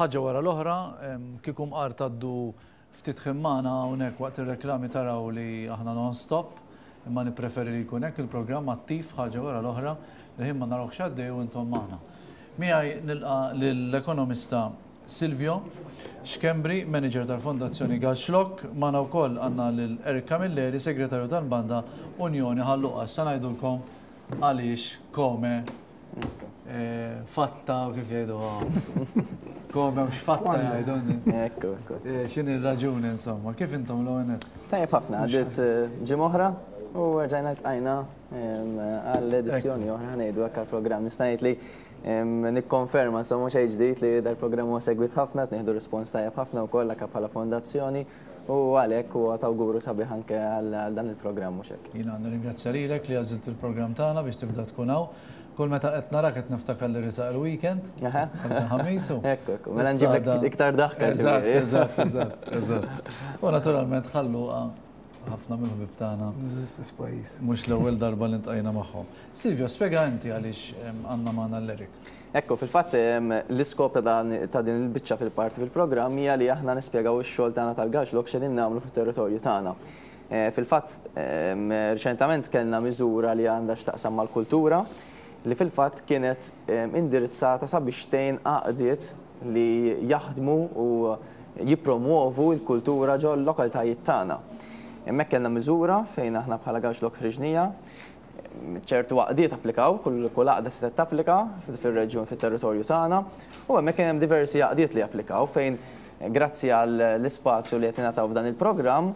Ħaġa wara l-oħra, kieku mqar tgħaddu ftit ħin magħna hawnhekk waqt ir-reklami taraw li aħna non-stop, imma nippreferi li jkun hekk il-programm attiv ħaġa wara l-oħra, il-ħin ma narawhx għaddej u intom magħna. Miegħi nilqa' lill-ekonomista Silvio Schembri, manager tal-Fondazzjoni Galxlokk, magħna wkoll għandna lil Eric Camilleri, segretarju tal-Banda Unjoni Ħal Luqa. Issa ngħidulkom għaliex come fatta u kif jgħiduha. Come u x'fatta jgħidu. Ekku, ekku. X'inhi r-raġuni insomma, kif intom l-ewwel nett? Tajjeb ħafna, għaddiet ġimgħa oħra u rġajna ltqajna għall-edizzjoni oħra ngħidu hekk għall-programm. Nista' ngħid li nikkonferma insomma xejn ġdid li dal-programm huwa segwit ħafna, qed nieħdu rispons tajjeb ħafna wkoll anke bħala fondazzjoni u għalhekk huwa t'awguru sabiħ anke għal dan il-programm mhux hekk. Jiena nirringrazzja lilek li għażilt il-programm tagħna biex tibda tkun hawn. Kull meta qed narak qed niftakar li risaq il-weekend. Ħamisu. Ekku, ekku. Mela nġiblek iktar daħka. Eżatt, eżatt, eżatt, eżatt. U naturalment ħalluqa ħafna mill-ħbieb tagħna. L-istess pajjiż. Mhux l-ewwel darba li ntqajna magħhom. Silvio, spjega inti għaliex għandna magħna l-Eric. Ekku, fil-fatt l-iskop ta' din il-biċċa fil-parti fil-programm hija li aħna nispjegaw ix-xogħol tagħna tal-Gaxlok x'qegħdin nagħmlu fit-territorju tagħna. Fil-fatt, riċentament kellna miżura li għandha x'taqsam mal-kultura li fil-fatt kienet indirizzata sabiex tgħin għaqdiet li jaħdmu u jippromwovu l-kultura ġol-lokalitajiet tagħna. Hemmhekk kellna miżura fejn aħna bħala Gaxlok ħriġnija. Ċertu għaqdiet applikaw, kull għaqda setgħet tapplika fir-reġjun, fit-territorju tagħna, u hemmhekk kien hemm diversi għaqdiet li applikaw fejn grazzi għall-ispazju li qed ningħataw f'dan il-programm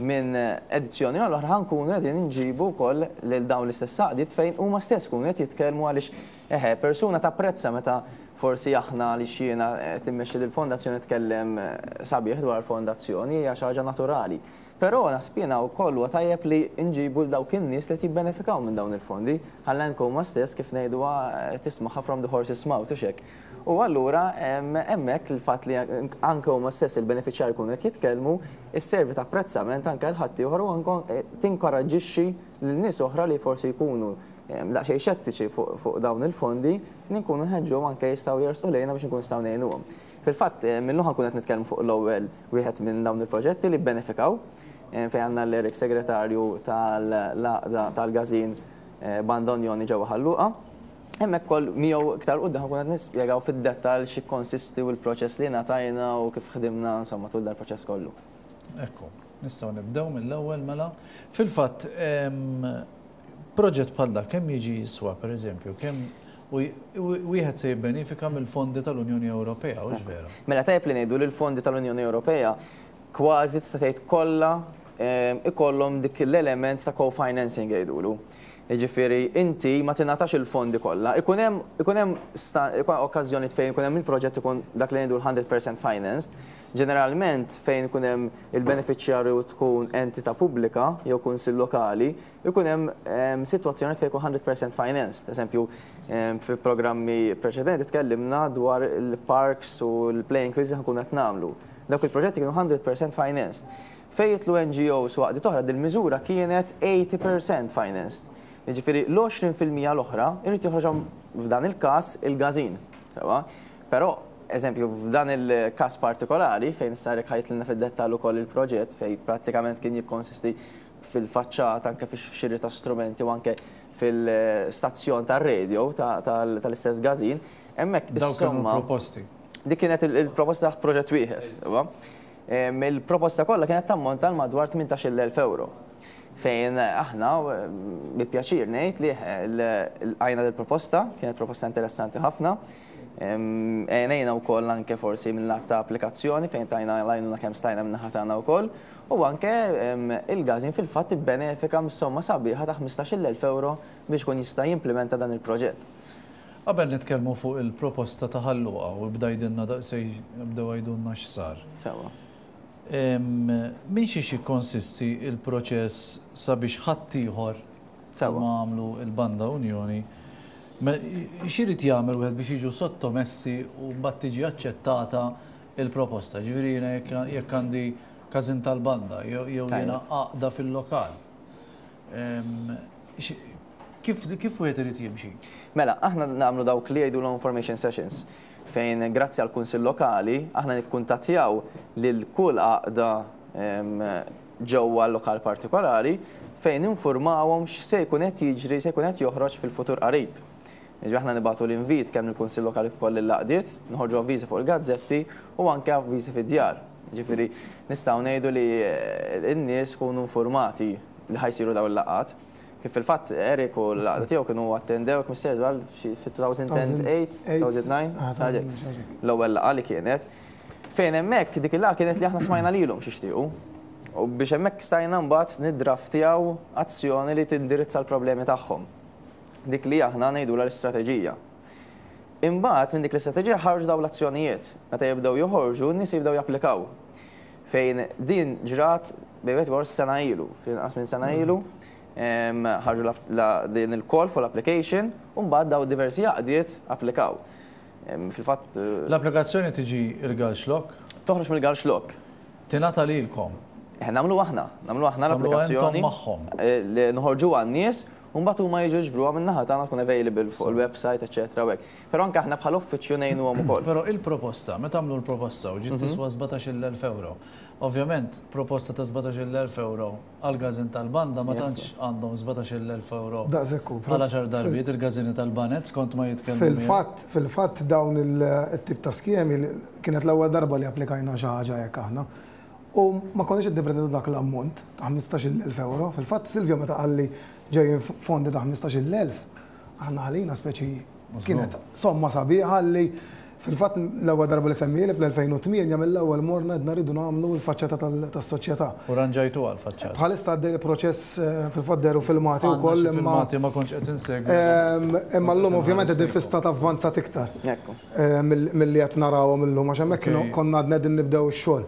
minn edizzjoni għal oħra ħa nkunu qegħdin inġibu wkoll lil dawn l-istess għaqdiet fejn huma stess ikunu qed jitkellmu għaliex eħe persuna tapprezza meta forsi aħna għaliex jiena qed immexxi lill-fondazzjoni nitkellem sabiħ dwar il-fondazzjoni hija xi ħaġa naturali. Però naħseb jiena wkoll huwa tajjeb li nġibu 'l dawk in-nies li qed jibbenefikaw minn dawn il-fondi, ħalli anke huma stess kif ngħiduha tismagħha from the horse's mouth, hux hekk? U allura hemmhekk il-fatt li anke huma stess il-benefiċjarji jkunu qed jitkellmu, isservi ta' apprezzament anke għal ħaddieħor u anke tinkoraġġixxi lil nies oħra li forsi jkunu daqsxejn xettiċi fuq dawn il-fondi, li nkunu nħeġġuhom anke jistgħu jersqu lejna biex inkunu nistgħu ngħinuhom. Fil-fatt, minnu ħa nkunu qed nitkellmu fuq l-ewwel wieħed minn dawn il-proġetti li bbenefikaw, fejn għandna lil Eric Segretarju tal-Għaqda tal-Każin Banda Unjoni ġewwa Ħal Luqa. Hemmhekk ukoll miegħu iktar quddiem ħa nkunu qed nispjegaw fid-dettall x'jikkonsisti u l-proċess li ngħatajna u kif ħdimna insomma tul dal-proċess kollu. Ekku, nistgħu nibdew mill-ewwel mela. Fil-fatt, Proġett bħal dak kemm jiġi jiswa, pereżempju, kemm wieħed se jibbenifika mill-fondi tal-Unjoni Ewropea, hux vera? Mela tajjeb li ngħidu li l-fondi tal-Unjoni Ewropea kważi tista' tgħid kollha ikollhom dik l-element ta' co-financing jgħidulu. Jiġifieri inti ma tingħatax il-fondi kollha. Ikun hemm ikun hemm okkażjonijiet fejn ikun hemm il-proġett ikun dak li ngħidu l-100% financed. Ġeneralment fejn ikun hemm il-benefiċjarju tkun entità pubblika jew kunsill lokali, ikun hemm sitwazzjonijiet fejn ikun 100% financed. Eżempju, fi programmi preċedenti tkellimna dwar il-parks u l-playing fields li ħa nkunu qed nagħmlu. Dawk il-proġetti kienu 100% financed. Fejn jidħlu NGOs u għaqdiet oħra dil-miżura kienet 80% financed. Jiġifieri l-20% l-oħra jrid joħroġhom f'dan il-każ il-każin. Sewwa? Però, eżempju, f'dan il-każ partikolari fejn issa Eric ħa jidħlilna fid-dettall ukoll il-proġett fejn prattikament kien jikkonsisti fil-faċċata, anke fix-xiri ta' strumenti u anke fil-stazzjon tar-radio tal-istess każin, hemmhekk Dawk kienu l-proposti. Dik kienet il-proposta taħt proġett wieħed. Il-proposta kollha kienet tammonta għal madwar 18,000 ewro. Fejn aħna bi pjaċir ngħid li lqajna dil-proposta, kienet proposta interessanti ħafna. Għenejna wkoll anke forsi minn lat ta' applikazzjoni fejn tajna l-għajnuna kemm stajna min-naħa tagħna wkoll. U anke il-Gazin fil-fatt ibbenefika mis-somma sabiħa ta' 15,000 ewro biex ikun jista' jimplimenta dan il-proġett. Qabel nitkellmu fuq il-proposta ta' Ħal Luqa u ibda għidilna daqsxejn, ibdew għidulna x'sar. Sewwa. Minn xiex jikkonsisti l-proċess sabiex ħaddieħor bħalma għamlu l-Banda Unjoni, x'irid jagħmel wieħed biex jiġu sottomessi u mbagħad tiġi aċċettata l-proposta? Ġifieri jiena jekk għandi każin tal-banda jew jiena għaqda fil-lokal. Kif wieħed irid jimxi? Mela, aħna nagħmlu dawk li jgħidulhom information sessions. Fejn grazzi għall-Kunsill Lokali aħna nikkuntattjaw lil kull għaqda ġewwa l-lokal partikolari fejn ninfurmawhom x'se jkun qed jiġri, se jkun qed joħroġ fil-futur qarib. Jiġifieri aħna nibagħtu l-invit kemm lill-Kunsill Lokali kif ukoll lill-għaqdiet, noħorġu avviżi fuq il-gazzetti u anke avviżi fid-djar. Jiġifieri nistgħu ngħidu li n-nies ikunu infurmati li ħa jsiru dawn il-laqgħat. Kif fil-fatt Eric u l-għaqda tiegħu kienu attendew, jekk mhux sejjer żball, fit-2008, 2009, l-ewwel laqgħa li kienet. Fejn hemmhekk dik il-laqgħa kienet li aħna smajna lilhom x'jixtiequ. U biex hemmhekk stajna mbagħad niddraftjaw azzjoni li tindirizza l-problemi tagħhom. Dik li aħna ngħidulha l-istrateġija. Imbagħad minn dik l-istrateġija ħarġu dawn l-azzjonijiet. Meta jibdew joħorġu, n-nies jibdew japplikaw. Fejn din ġrat bejn wieħed u ieħor sena ilu, ftit inqas minn sena ilu, ħarġu din il-call for application u mbagħad dawn diversi għaqdiet applikaw. Fil-fatt. L-applikazzjoni tiġi il-Galxlok? Toħroġ mill-Galxlok. Tingħata lilkom? Nagħmluha aħna, nagħmluha aħna l-applikazzjoni. Tagħmluha intom magħhom. Noħorġuha għan-nies u mbagħad huma jiġu jiġbruha min-naħa tagħna tkun available fuq il-website, eċċetera u hekk. Però anke aħna bħala uffiċċju ngħinuhom ukoll. Però il-proposta, meta għamlu l-proposta u ġiet tiswa 17,000 ewro, ovvjament proposta ta' 17,000 ewro għall-każin tal-banda ma tantx għandhom 17,000 ewro għal għaxar darbiet il-każini tal-baned skont ma jitkellmu miegħi. Fil-fatt, fil-fatt dawn it-tip ta' skemi kienet l-ewwel darba li applikajna xi ħaġa hekk aħna. U ma konniex qed nippretendu dak l-ammont ta' 15,000 ewro. Fil-fatt Silvio meta qalli ġejjin fondi ta' 15,000, aħna għalina speċi kienet somma sabiħa li fil-fatt l-ewwel darba li semmieli fl-2008 mill-ewwel morna għedna rridu nagħmlu l-faċċata tas-soċjetà. U rranġajtuha l-faċċata? Bħalissa għaddej il-proċess, fil-fatt dehru filmati wkoll imma. Għandna xi filmati ma kontx qed insegwi. Imma llum ovvjament qegħdin fi stat avvanzat iktar milli qed narawhom illum għax hemmhekk konna għadna qegħdin nibdew ix-xogħol.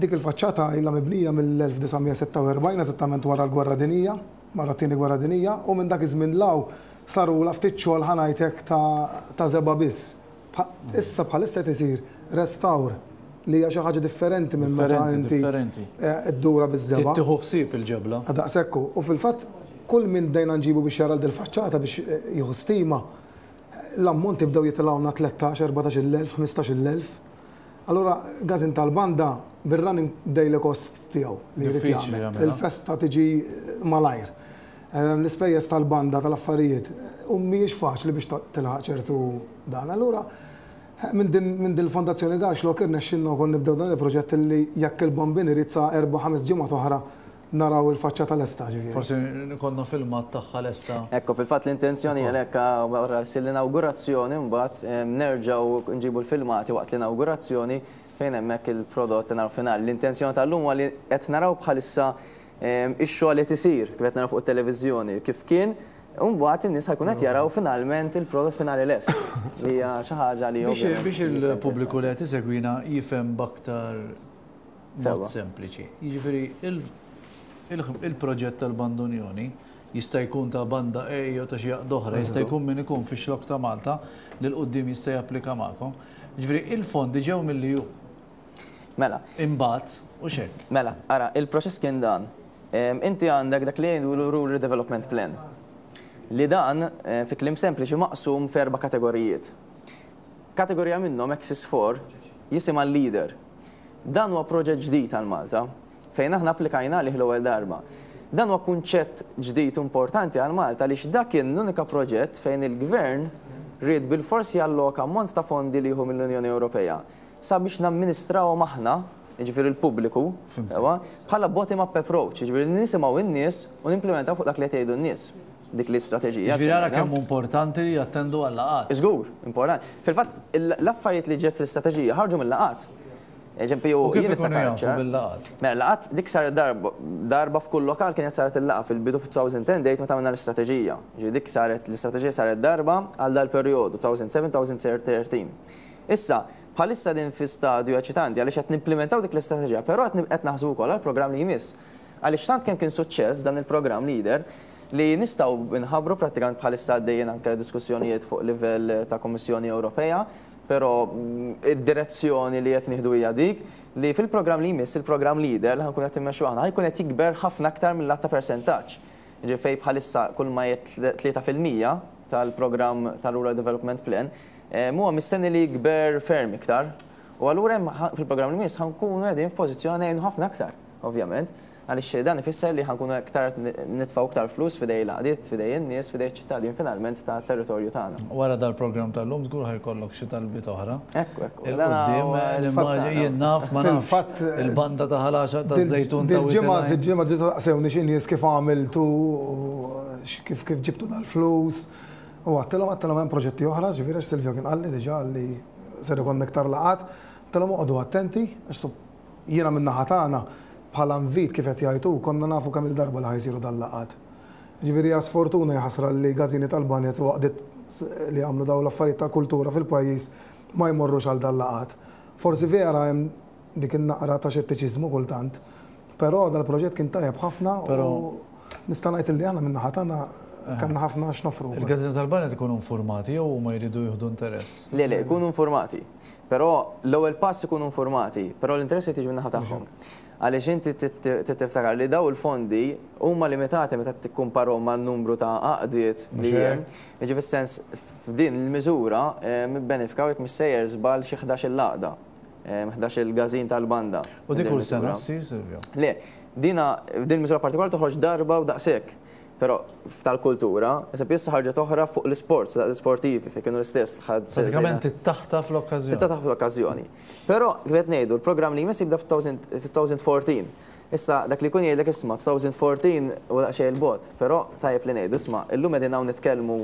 Dik il-faċċata ilha mibnija mill-1946, eżattament wara l-Gwerra Dinjija, wara t-Tieni Gwerra Dinjija, u minn dak iż-żmien 'l hawn sarulha ftit xogħol ħa ngħid hekk ta' żebgħa biss. Issa bħalissa qed isir restawr li hija xi ħaġa differenti minn meta inti ddurha biż-żebgħa. Trid tieħu ħsieb il-ġebla. Daqshekk hu. U fil-fatt kull min bdejna nġibu biex jara dil-faċċata biex jieħu stima, l-ammonti bdew jitilgħulna 13, 14-il elf, 15-il elf. Allura Gazin tal-banda bir-running daily cost tiegħu li jrid jagħmel. Il-festa tiġi malajr. L-ispejjeż tal-banda tal-affarijiet u mhijiex faċli biex tilħaq ċertu dan. Allura minn din il-Fondazzjoni Garxlok irnexxielna wkoll nibdew dan il-proġett li jekk il-Bambin irid sa erba' ħames ġimgħat oħra naraw il-faċċata lesta ġifieri. Forsi ikollna filmat tagħha lesta. Ekku, fil-fatt l-intenzjoni hija hekk wara ssir l-inawgurazzjoni mbagħad nerġgħu nġibu l-filmati waqt l-inawgurazzjoni fejn hemmhekk il-prodott naraw finali. L-intenzjoni tal-lum huwa li qed naraw bħalissa ix-xogħol qed isir kif qed naraw fuq it-televiżjoni kif kien u mbagħad in-nies ħa jkunu qed jaraw finalment il-prodott finali lest. Li hija xi ħaġa li Biex il-pubbliku li qed isegwina jifhem b'aktar Mod sempliċi. Jiġifieri il-proġett tal-Bandunjoni jista' jkun ta' banda A jew ta' xi għaqda oħra, jista' jkun min ikun fix-xlokk ta' Malta li 'l quddiem jista' japplika magħkom. Jiġifieri il-fondi ġew mill-EU. Mela. Imbagħad, hux hekk? Mela, ara, il-proċess kien dan. Inti għandek dak li jgħidulu Rural Development Plan. Li dan, fi kliem sempliċi, maqsum f'erba' kategorijiet. Kategorija minnhom, Axis 4, jisimha Leader. Dan huwa proġett ġdid għal Malta, fejn aħna applikajna għalih l-ewwel darba. Dan huwa kunċett ġdid u importanti għal Malta għaliex dak kien l-unika proġett fejn il-Gvern ried bilfors jalloka ammont ta' fondi li jieħu mill-Unjoni Ewropea sabiex namministrawhom aħna, jiġifieri l-pubbliku, sewwa, bħala bottom-up approach, jiġifieri li nisimgħu n-nies u nimplimentaw fuq dak li qed jgħidu n-nies. Dik l-istrateġija. Jiġifieri ara kemm hu importanti li jattendu għal-laqgħat. Żgur, importanti. Fil-fatt, l-affarijiet li ġiet fl-istrateġija ħarġu mill-laqgħat. Eżempju, U kif ikunu jafu bil-laqgħat? Mela, laqgħat dik saret darba, darba f'kull lokal kienet saret il-laqgħa fil-bidu fit-2010 meta għamilna l-istrateġija. Ġifieri dik saret, l-istrateġija saret darba għal dal-perjodu, 2007-2013. Issa, bħalissa din fi stadju eċitanti għaliex qed nimplimentaw dik l-istrateġija, però qed naħsbu wkoll għall-programm li jmiss. Għaliex tant kemm kien suċċess dan il-programm Leader, li nistgħu nħabbru prattikament bħalissa għaddejjin anke diskussjonijiet fuq livell ta' Kummissjoni Ewropea, però id-direzzjoni li qed nieħdu hija dik li fil-programm li jmiss, il-programm Leader li ħa nkunu qed immexxu aħna, ħa jkun qed jikber ħafna aktar mill-għadd ta' persentaġġ. Jiġifieri fejn bħalissa kull ma jgħid 3% tal-programm tal-Rural Development Plan, Huwa mistenni li jikber ferm iktar. U allura hemm fil-programm li jmiss ħa nkunu qegħdin f'pożizzjoni ngħinu ħafna aktar, ovvjament, għaliex dan ifisser li ħa nkunu aktar nitfgħu iktar flus f'idej l-għaqdiet, f'idej in-nies, f'idej iċ-ċittadin finalment tat-territorju tagħna. Wara dal-programm tal-lum żgur ħa jkollok xi talbiet oħra. Ekku, ekku. 'Il quddiem, nimmaġina, jien naf, ma nafx, il-banda ta' Ħal Għaxaq taż-Żejtun ta' Wied il-Għajn. Dil-ġimgħa ġiet saqsewni xi nies kif għamiltu, kif ġibtu dal-flus. U għedtilhom, għedtilhom hemm proġetti oħra, ġifieri għax Silvio kien qalli diġà li ser ikollna iktar laqgħat. Għedtilhom oqogħdu attenti għax jiena min-naħa tagħna bħala invit kif qed jgħid hu konna nafu kemm-il darba li ħa jsiru dal-laqgħat. Ġifieri hija sfortuna hija ħasra li gażini tal-baned u għaqdiet li jagħmlu dawn l-affarijiet ta' kultura fil-pajjiż ma jmorrux għal dal-laqgħat. Forsi vera hemm dik in-naqra ta' xettiċiżmu kultant, però dal-proġett kien tajjeb ħafna u nista' ngħid li aħna min-naħa tagħna kellna ħafna x'noffru wkoll. Il-Każini tal-Baned ikunu infurmati jew huma jridu jieħdu interess? Le, le, ikunu infurmati. Però l-ewwel pass ikunu infurmati, però l-interess irid jiġi min-naħa tagħhom. Għaliex inti trid tiftakar li dawn il-fondi huma limitati meta tikkumparhom man-numru ta' għaqdiet li hemm. Jiġifieri fis-sens f'din il-miżura bbenefikaw jekk mhux sejjer żball xi 11-il għaqda. 11-il każin tal-banda. U dik kull sena ssir, Silvio? Le, dina, din il-miżura partikolari toħroġ darba u daqshekk. Però f'tal-kultura, eżempju issa ħarġet oħra fuq l-isports, l-sportivi, fejn kienu l-istess. Pratikament tittaħtaf l-okkażjoni. Tittaħtaf l-okkażjoni. Però, kif qed ngħidu, l-programm li jmiss jibda f'2014. Issa, dak li jkun jgħidlek isma' 2014 u daqsxejn 'il bogħod, però tajjeb li ngħidu isma' illum qegħdin hawn nitkellmu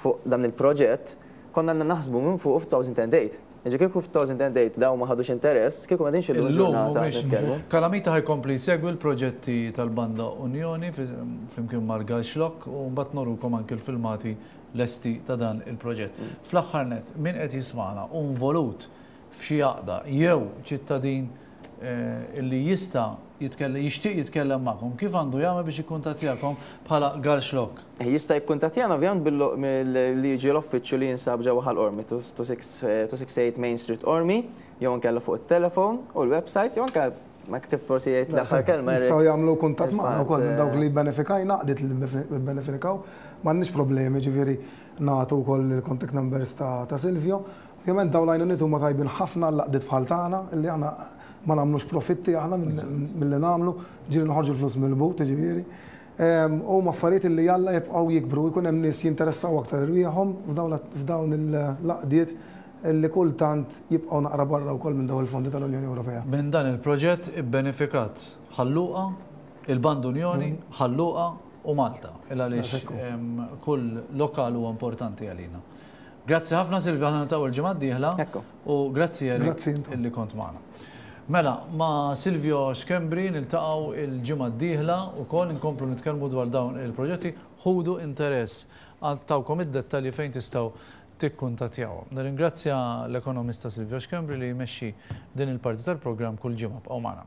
fuq dan il-proġett, konna għandna naħsbu minn fuq f'2008. Jiġifieri kieku f'2008 dawn ma ħadux interess, kieku m'qegħdinx illum il-ġurnata nitkellmu. Kalamita ħa jkompli jsegwi l-proġetti tal-Banda Unjoni flimkien mal-Galxlokk u mbagħad norukom anki l-filmati lesti ta' dan il-proġett. Fl-aħħar nett, min qed jismagħna u involut f'xi għaqda jew ċittadin li jista' jitkellem, jixtieq jitkellem magħkom, kif għandu jagħmel biex jikkuntattjakom bħala Galxlokk? Jista' jikkuntattjana ovvjament billi jiġi l-uffiċċju li jinsab ġewwa Ħal Qormi, 268 Main Street Qormi, jew inkella fuq it-telefon u l-website, jew anke kif forsi jgħid l-aħħar kelma. Jistgħu jagħmlu kuntatt magħna wkoll minn dawk li bbenefikajna, għaqdiet li bbenefikaw, m'għandniex problemi ġifieri nagħtu wkoll il-contact numbers ta' Silvio. Ovvjament dawn l-għajnuniet huma tajbin ħafna għall-għaqdiet bħal tagħna illi aħna ma nagħmlux profitti aħna milli nagħmlu, ġieli noħorġu l-flus mill-but jiġifieri. Huma affarijiet illi jalla jibqgħu jikbru u jkun hemm nies jinteressaw aktar irwieħhom f'dawn l-għaqdiet illi kultant jibqgħu naqra barra wkoll minn dawn il-fondi tal-Unjoni Ewropea. Minn dan il-proġett ibbenefikat Ħal Luqa, il-Band Unjoni, Ħal Luqa u Malta, il għaliex kull lokal huwa importanti għalina. Grazzi ħafna Silvio, aħna niltaqgħu l-ġimgħa d-dieħla. U grazzi Eric illi kont magħna. Mela, ma' Silvio Schembri niltaqgħu l-ġimgħa d-dieħla wkoll inkomplu nitkellmu dwar dawn il-proġetti. Ħudu interess. Tawkom id-dettalji fejn tistgħu tikkuntattjawhom. Nirringrazzja l-ekonomista Silvio Schembri li jmexxi din il-parti tal-programm kull ġimgħa. Bqgħu magħna.